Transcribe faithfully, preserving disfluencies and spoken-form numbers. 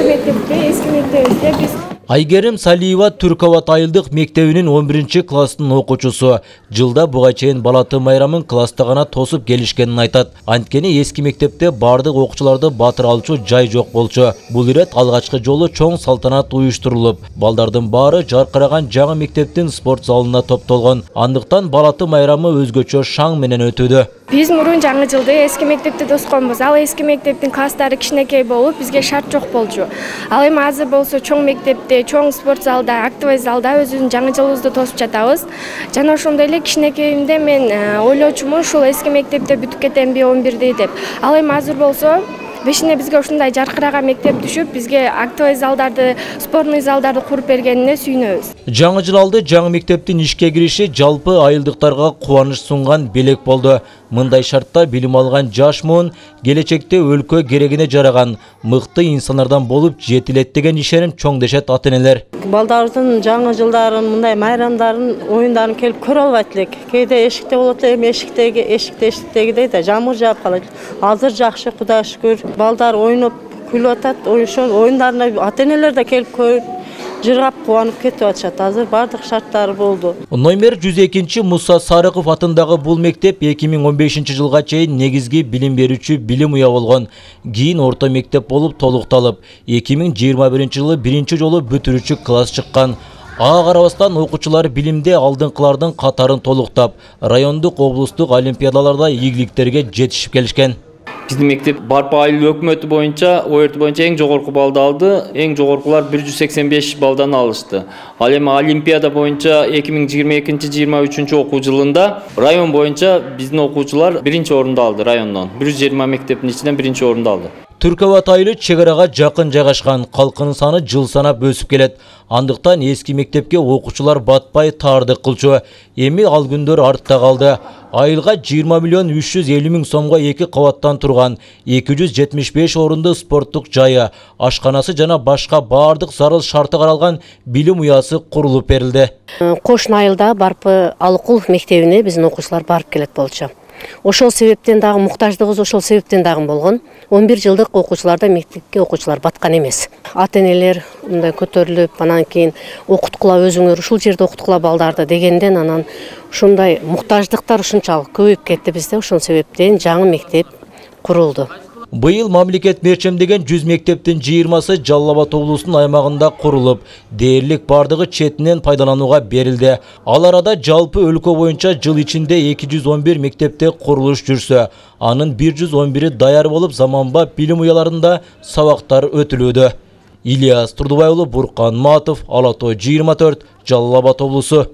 эски мектепте, эски мектебибизде биз Айгерим Салиева Түркават айылдык мектебинин он биринчи класстын окуучусу. Жылда буга чейин Балаты майрамын класста гана тосуп келишкенин айтат. Анткени эски мектепте бардык окуучуларды батыра алчу жай жок болчу. Бул ирет алгачкы жолу чоң салтанат уюштурулуп, балдардын баары жаркыраган жаңы мектептин спорт залына топтолгон. Андыктан Балаты майрамы өзгөчө шаң менен өтүүдө. Биз мурун жаңы жылды эски мектепте тосконбуз. Ал эски мектептин класстары кичинекей болуп, бизге шарт жок болчу. Ал эми азыр болсо чоң мектепте, чоң спорт залда, актовый залда өзүбүздүн жаңы жылыбызды тосуп жатабыз. Жана ошондой эле кичинекейимде мен ойлочумун, ушул эски мектепте бүтүп кетемби он бирди деп. Ал эми азыр болсо бешине бизге ушундай жаркыраган мектеп түшүп, бизге актовый залдарды, спортный залдарды куруп бергенине сүйүнөбүз. Жаңы жыл алды жаңы мектептин ишке кириши жалпы айылдыктарга кубаныч сунган белек болду. Мындай шартта билим алган жаш муун келечекте өлкө керегине жараган мыкты инсандардан болуп жетилет деген ишеним чоң дешет ата-энелер. Балдарыбыздын жаңы жылдарын, мындай майрамдарын, оюндарын келип көрө албайт элек. Кээде эшикте болот эле, эшиктеги, эшикте эшиктегидей да жамыр жаап калат. Азыр жакшы, Кудайга шүгүр. Балдар ойноп күлүп атат, ошол оюндарына ата-энелер да келип көрүп, жыргап кубанып кетип атышат. Азыр бардык шарттары болду. Номер жүз экинчи Муса Сарыков атындагы бул мектеп эки миң он бешинчи жылга чейин негизги билим берүүчү билим уя болгон. Кийин орто мектеп болуп толукталып, эки миң жыйырма биринчи жылы биринчи жолу бүтүрүүчү класс чыккан. Ага карабастан окуучулар билимде алдыңкылардын катарын толуктап, райондук, облустук олимпиадаларда ийгиликтерге жетишип келишкен. Биздин мектеп Барпа айыл өкмөтү боюнча, ОРТ боюнча эң жогорку балды алды. Эң жогоркулар бир жүз сексен беш балдан алышты. Ал эми олимпиада боюнча эки миң жыйырма экинчи жыйырма үчүнчү окуу жылында район боюнча биздин окуучулар биринчи орунду алды райондон. бир жүз жыйырма мектептин ичинен биринчи орунду алды. Түркават айылы чек арага жакын жайгашкан, калкынын саны жыл санап өсүп келет. Андыктан эски мектепке окуучулар батпай таардык кылчу. Эми ал күндөр артта калды. Айылга жыйырма миллион үч жүз элүү миң сомго эки кабаттан турган эки жүз жетимиш беш орунду спорттук жайы, ашканасы жана башка бардык зарыл шарты каралган билим уясы курулуп берилди. Кошуна айылда Барпы Алыкулов мектебине биздин окуучулар барып келет болчу. Ошол себептен дагы муктаждыгыбыз ошол себептен дагы болгон. он бир жылдык окуучуларда мектепке окуучулар баткан эмес. Ата-энелер мындай көтөрүлүп, анан кийин окуткула өзүңөр ушул жерде окуткула балдарды дегенден анан ушундай муктаждыктар ушунчалык көбөйүп кетти бизде. Ошол себептен жаңы мектеп курулду. Быйыл мамлекет мерчемдеген жүз мектептин жыйырмасы Жалал Абад облусунун аймагында курулуп, дээрлик бардыгы четинен пайдаланууга берилди. Ал арада жалпы өлкө боюнча жыл ичинде эки жүз он бир мектепте курулуш жүрсө, анын бир жүз он бири даяр болуп, заманбап билим уяларында сабактар өтүлүүдө. Ильяс Турдубай уулу, Буркан Матов, Ала Тоо жыйырма төрт, Жалал Абад облусу.